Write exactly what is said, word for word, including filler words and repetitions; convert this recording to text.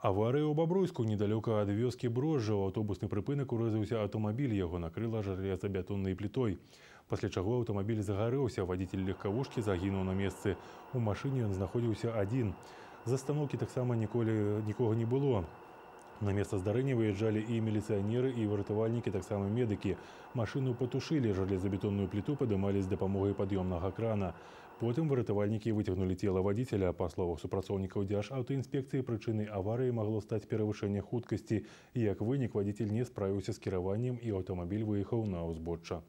Аварыя ў Бабруйску недалёка ад вёскі Брожжа. У аўтобусны прыпынак урэзаўся аўтамабіль, яго накрыла жалезабетоннай плітой. Пасля чаго аўтамабіль загарэўся, вадзіцель легкавушкі загінуў на месцы. У машыне ён знаходзіўся адзін. З астаноўкі таксама ніколі нікога не было. На месца здарэння выязджалі і міліцыянеры, і выратавальнікі, таксама медыкі. Машыну патушылі, жалезабетонную пліту падымалі з дапамогай пад'ёмнага крана. Потым выратавальнікі выцягнулі цела вадзіцеля. Па словах супрацоўнікаў Дзяржаўтаінспекцыі, прычынай аварыі магло стаць перавышэнне хуткасці. І як вынік, вадзіцель не справіўся з кіраваннем, і аўтамабіль выехаў на ўзбочча.